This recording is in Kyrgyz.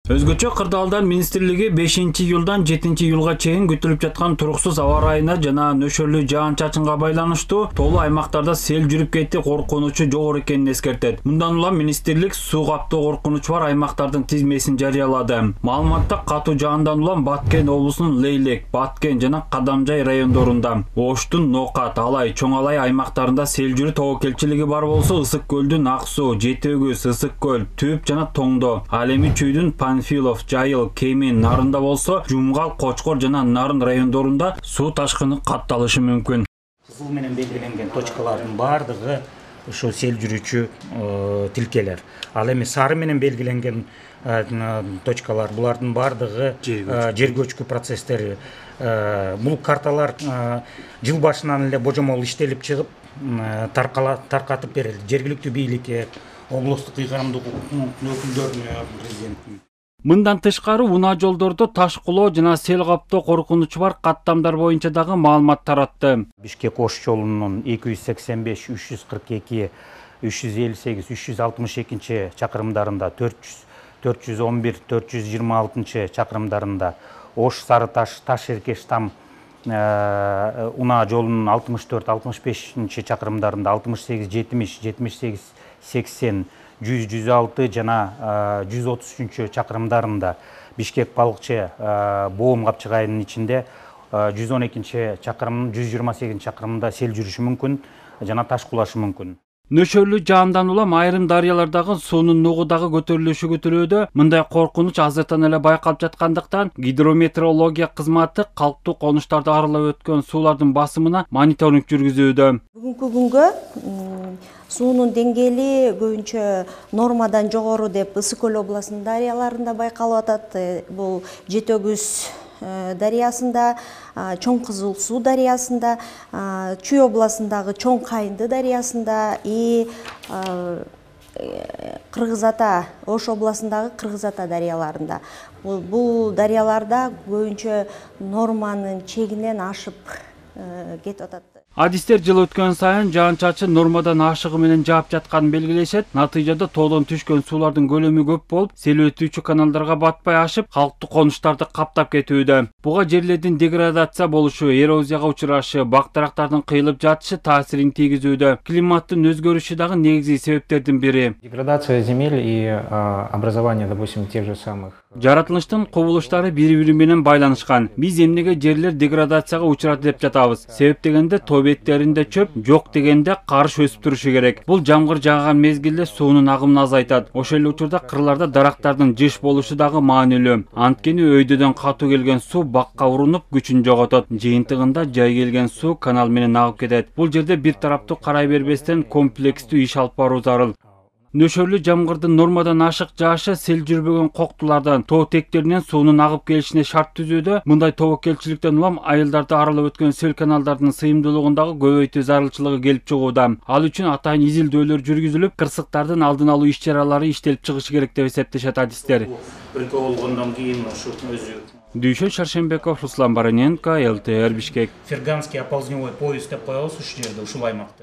Өзгөчө кырдаалдар министрлиги 5-июлдан 7-июлга чейин күтүлүп жаткан туруксуз аба ырайына жана нөшөрлүү жаан-чачынга байланыштуу тоолуу аймактарда сел жүрүп кетти коркунучу жогору экенин эскертет. Мындан улам министрлик суу каптоо коркунучу бар аймактардын тизмесин жарыялады. Маалыматта катуу жаандан улам Баткен облусунун Лейлек, Баткен жана Кадамжай райондорунда, Оштун Нокат, Алай, Чоң Алай аймактарында сел жүрүү тобокелчилиги бар болсо, Ысык көлдүн Ак суу, Жети Өгүз, Ысык көл, Түп жана Тоңдо, ал эми Чүйдүн Панфилов, Жайыл, Кемин, Нарында болсо, Жумгал, Кочкор жана Нарын райондорунда суу ташкыны катталышы мүмкүн. Кызыл менен белгиленген точкалардын бардыгы ушу сел жүрүүчү тилкелер. Ал эми сары менен белгиленген точкалар булардын бардыгы жер көчкү процесстери. Бул карталар жыл башынан эле божомол иштелип чыгып, таркатып берилди. Жергиликтүү бийликке, облустук ыйгарымдык өкүлдөрүнө, президенттин. Мындан тышкары унаа жолдордо таш кулоо жана сел каптоо коркунучу бар каттамдар боюнча дагы маалымат таратты. Бишкек-Ош жолунун 285, 342, 358, 362 чакырымдарында, 411, 426 чакырымдарында, Ош-Сары Таш, Таш-Эркеш-Там унаа жолунун 64, 65 чакырымдарында, 68, 70, 78, 80, 100, 106 жана 133 чакырымдарында, Бишкек-Балыкчы, Боом капчыгайынын ичинде 112 чакырым, 128 чакырымда сел жүрүшү мүмкүн жана таш кулашы мүмкүн. Нөшөрлүү жаандан улам айрым дарыялардагы суунун нугу дагы көтөрүлүшү күтүлүүдө. Мындай коркунуч азыртан эле байкалып жаткандыктан гидрометеорология кызматы калктуу конуштарды аралап өткөн суулардын басымына мониторинг жүргүзүүдө. Бүгүнкү күнгө суунун деңгээли көбүнчө нормадан жогору деп Ысык көл областынын дарыяларында байкалып атат. Бул Жети Өгүз дарыясында, Чоң Кызыл суу дарыясында, Чүй областындагы Чоң Кайынды дарыясында и Кыргыз Ата, Ош областындагы Кыргыз Ата дарыяларында. Бул дарыяларда көбүнчө норманын чегинен ашып кетип атат. Адистер жыл өткөн сайын жаан-чачын нормадан ашыгы менен жаап жатканын белгилешет. Натыйжада тоодон түшкөн суулардын көлөмү көп болуп, сел өтүүчү каналдарга батпай ашып, калктуу конуштарды каптап кетүүдө. Буга жерлердин деградация болушу, эрозияга учурашы, бак-дарактардын кыйылып жатышы таасирин тийгизүүдө. Климаттын өзгөрүшү дагы негизги себептердин бири. Деградация земель и образование, допустим, тех же самых. Жаратылыштын кубулуштары бири-бири менен байланышкан. Биз эмнеге жерлер деградацияга учурат деп жатабыз? Себеп дегенде тоо беттеринде чөп, жок дегенде карыш өсүп турушу керек. Бул жамгыр жааган мезгилде суунун агымын азайтат. Ошол эле учурда кырларда дарактардын жыш болушу дагы маанилүү. Анткени өйдөдөн катуу келген суу бакка урунуп күчүн жоготот. Жыйынтыгында жай келген суу канал менен агып кетет. Бул жерде бир тараптуу карай бербестен комплекстүү иш алып баруу зарыл. Нөшөрлүү жамгырдын нормадан ашык жаашы сел жүрбөгөн коктулардан, тоо тектеринен суунун агып келишине шарт түзүүдө. Мындай тобокелчиликтен улам айылдарды аралап өткөн сел каналдардын сыйымдуулугундагы көбөйтүү зарылчылыгы келип чыгууда. Ал үчүн атайын изилдөөлөр жүргүзүлүп, кырсыктардын алдын алуу иш-чаралары иштелип чыгышы керек деп эсептешет адистер. Өлкө болгондон кийин ушу өзү Дүйшөн Шаршембеков, Руслан Бароненко, ЛТР Бишкек. Ферганский оползневой поезд деп коебуз ушул жерде, ушул аймакта.